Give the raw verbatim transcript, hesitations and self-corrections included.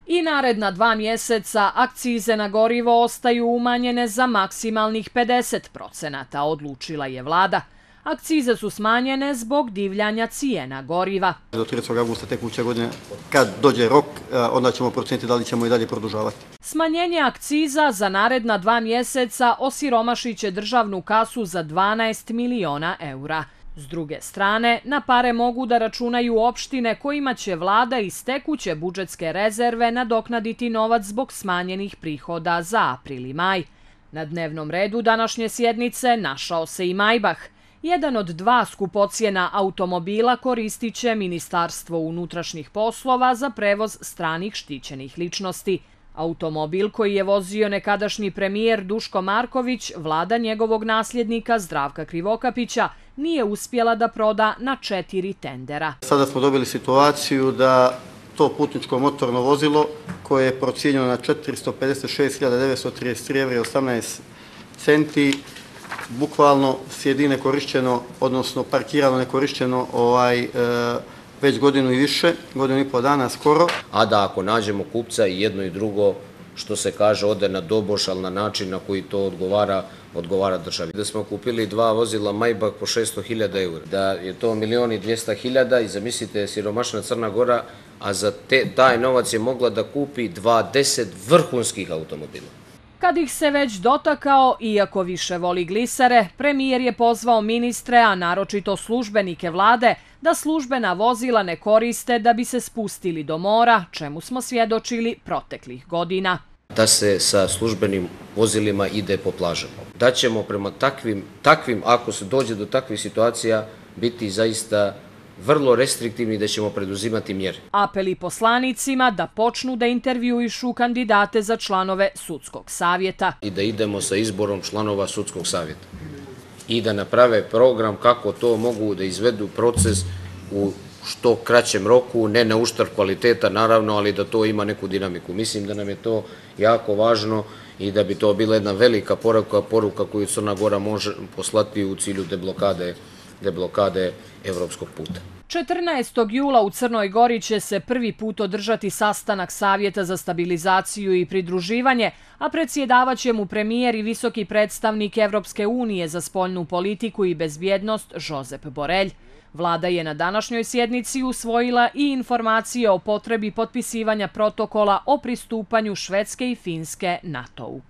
I naredna dva mjeseca akcize na gorivo ostaju umanjene za maksimalnih pedeset procenata, odlučila je vlada. Akcize su smanjene zbog divljanja cijena goriva. Do tridesetog avgusta tekuće godine, kad dođe rok, onda ćemo procijeniti da li ćemo i dalje produžavati. Smanjenje akciza za naredna dva mjeseca osiromašit će državnu kasu za dvanaest miliona eura. S druge strane, na pare mogu da računaju opštine kojima će vlada iz tekuće budžetske rezerve nadoknaditi novac zbog smanjenih prihoda za april i maj. Na dnevnom redu današnje sjednice našao se i Maybach. Jedan od dva skupocjena automobila koristit će Ministarstvo unutrašnjih poslova za prevoz stranih štićenih ličnosti. Automobil koji je vozio nekadašnji premijer Duško Marković, vlada njegovog nasljednika Zdravka Krivokapića nije uspjela da proda na četiri tendera. Sada smo dobili situaciju da to putničko motorno vozilo koje je procijenjeno na četiristo pedeset šest hiljada devetsto trideset tri evra i osamnaest centi bukvalno sjedi nekorišćeno, odnosno parkirano nekorišćeno ovaj, e, već godinu i više, godinu i pol dana skoro. A da ako nađemo kupca i jedno i drugo, što se kaže, ode na doboš, ali na način na koji to odgovara, odgovara državi. Da smo kupili dva vozila Maybach po šesto hiljada eura, da je to milion i dvjesto hiljada i zamislite siromašna Crna Gora, a za te, taj novac je mogla da kupi dvadeset vrhunskih automobila. Kad ih se već dotakao, iako više voli glisere, premijer je pozvao ministre, a naročito službenike vlade, da službena vozila ne koriste da bi se spustili do mora, čemu smo svjedočili proteklih godina. Da se sa službenim vozilima ide po plažama. Da ćemo prema takvim, takvim, ako se dođe do takvih situacija, biti zaista vrlo restriktivni, da ćemo preduzimati mjere. Apeli poslanicima da počnu da intervjuišu kandidate za članove sudskog savjeta. I da idemo sa izborom članova sudskog savjeta. I da naprave program kako to mogu da izvedu proces u što kraćem roku, ne na uštrb kvaliteta naravno, ali da to ima neku dinamiku. Mislim da nam je to jako važno i da bi to bila jedna velika poruka, poruka koju Crna Gora može poslati u cilju deblokade deblokade evropskog puta. četrnaestog jula u Crnoj Gori će se prvi put održati sastanak Savjeta za stabilizaciju i pridruživanje, a predsjedavaće mu premijer i visoki predstavnik Evropske unije za spoljnu politiku i bezbjednost Josep Borrell. Vlada je na današnjoj sjednici usvojila i informacije o potrebi potpisivanja protokola o pristupanju Švedske i Finske NATO-u.